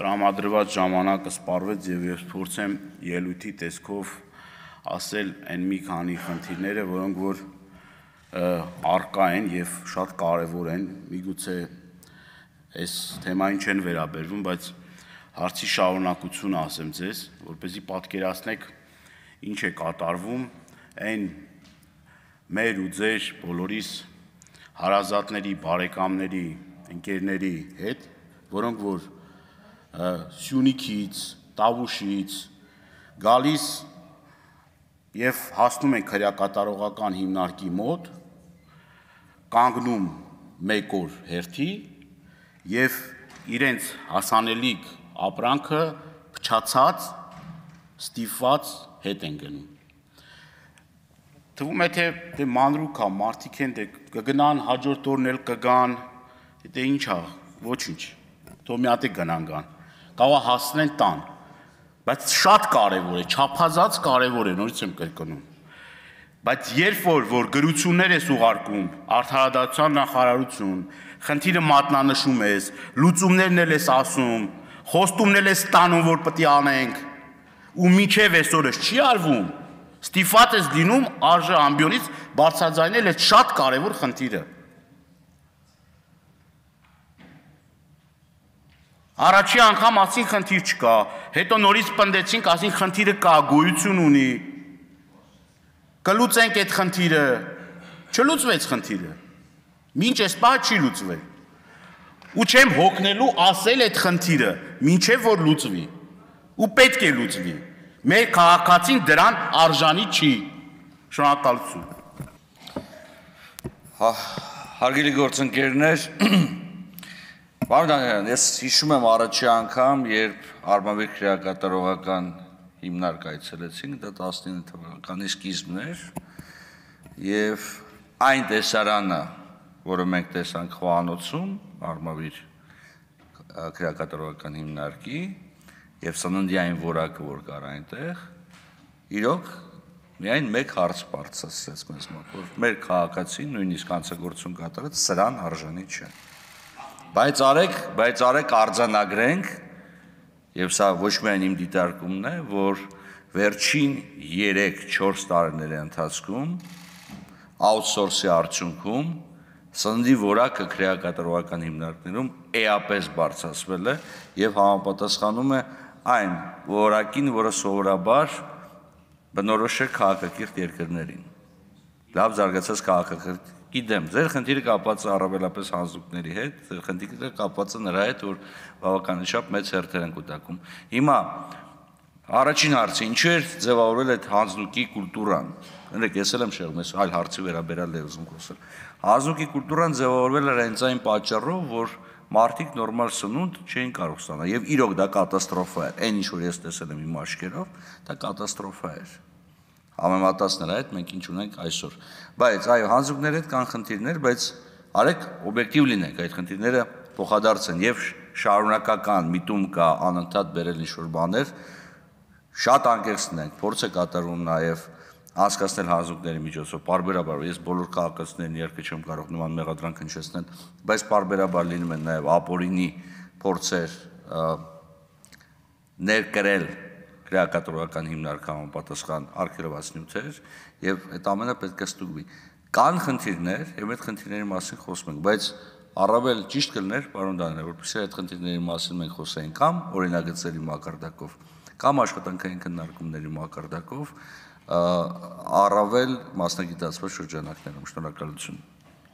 տրամադրված ժամանակը սպառվեց եւ ես փորձեմ ելույթի տեսքով ասել այն մի քանի խնդիրները, որոնք որ արկա են եւ շատ կարեւոր են, միգուցե այս թեմային չեն վերաբերվում, բայց հարցի շարունակությունը ասեմ ձեզ, որպեսզի պատկերացնեք ինչ է կատարվում այն մեր ու ձեր բոլորիս հարազատների, բարեկամների, ընկերների հետ, որոնք որ Սյունիքից, Տավուշից գալիս եւ հասնում են քրեակատարողական հիմնարկի մոտ, կանգնում մեկ օր հերթի եւ իրենց հասանելիք ապրանքը փչացած, ստիպված հետ են գնում։ Թվում է թե մանրուք է, մարդիկ են, կգնան հաջորդ օրն էլ կգան, դե ինչ է, ոչինչ, թող մի հատ գնան գան, կարող հասնեն տան, բայց շատ կարևոր է, չափազանց կարևոր է, նորից եմ կրկնում, բայց երբ որ գրություններ ես ուղարկում, արդարադատության նախարարություն, խնդիրը մատնանշում ես, լուծումներն էլ ես ասում, խոստումներ ես ստանում, որ պետք է անենք, ու մինչև այսօրս չի արվում, ստիպված ես լինում արժե ամբիոնից բարձրաձայնել այս շատ կարևոր խնդիրը։ Առաջի անգամ ասին խնդիր չկա, հետո նորից պնդեցինք, ասին խնդիրը կա, գոյություն ունի, կլուծենք այդ խնդիրը, չլուծվեց խնդիրը, մինչ այս պահը չի լուծվել, ու չեմ հոգնելու ասել այդ խնդիրը, մինչև որ լուծվի, ու պետք է լուծվի, մեր քաղաքացին դրան արժանի չի, շնորհակալություն։ Հարգելի գործընկերներ, Պարոն Դանիելյան, ես հիշում եմ առաջի անգամ, երբ Արմավիր քրեակատարողական հիմնարկ այցելեցինք, դա 19 թվականի սկիզբն էր, եւ այն տեսարանը, որը մենք տեսանք խոհանոցում, Արմավիր քրեակատարողական հիմնարկի, եւ սննդյային որակը, որ կար այնտեղ, իրոք միայն մեկ հարց բարձրացրեց մեզ մոտ, որ մեր քաղաքացին նույնիսկ հանցագործություն կատարած սրան արժանի չէ։ Բայց արեք արձանագրենք, եւ սա ոչ միայն իմ դիտարկումն է, որ վերջին 3-4 տարիների ընթացքում outsource-ի արդյունքում սննդի որակը քրեակատարողական հիմնարկներում էապես բարձրացվել է եւ համապատասխանում է այն որակին, որը սովորաբար բնորոշ է քաղաքակիրթ երկրներին։ Լավ զարգացած քաղաքակիրթի դեմ։ Ձեր խնդիրը կապված է առավելապես հանձնուկների հետ, ձեր խնդիրը կապված է նրա հետ, որ բավականին մեծ հերթեր են կուտակում։ Հիմա առաջին հարցը, ինչու էր ձևավորվել այդ հանձնուկի կուլտուրան։ Ներեք, ես էլ եմ շեղում, ես այլ հարցի վերաբերյալ եմ ուզում խոսել։ Հանձնուկի կուլտուրան ձևավորվել էր հենց այն պատճառով, որ մարդիկ նորմալ սնունդ չէին կարող ստանալ, եւ իրոք դա կատաստրոֆա էր։ Այն ինչ որ ես տեսել եմ իմ աչքերով, դա կատաստրոֆա էր։ Համեմատած նրա հետ մենք ինչ ունենք այսօր։ Բայց այո, հանձնուկների հետ կան խնդիրներ, բայց արեք օբյեկտիվ լինենք, այդ խնդիրները փոխադարձ են եւ շարունակական միտում կա անընդհատ բերել ինչ-որ բաներ, շատ անկեղծ լինենք, փորձ է կատարվում նաեւ անցկացնել հանձնուկների միջոցով, պարբերաբար, ես բոլոր քաղաքացիներին իհարկե չեմ կարող նման մեղադրանք հնչեցնել, բայց պարբերաբար լինում են նաեւ ապօրինի փորձեր ներկրել քրեակատարողական հիմնարկի համապատասխան արգելված նյութեր եւ այդ ամենը պետք է ստուգվի։ Կան խնդիրներ եւ այդ խնդիրների մասին խոսում ենք, բայց առավել ճիշտ կլիներ, պարոն Դանիելյան, որպեսզի այդ խնդիրների մասին մենք խոսենք կամ օրինագծերի մակարդակով, կամ աշխատանքային քննարկումների մակարդակով, առավել մասնագիտացված շրջանակներում։ Շնորհակալություն։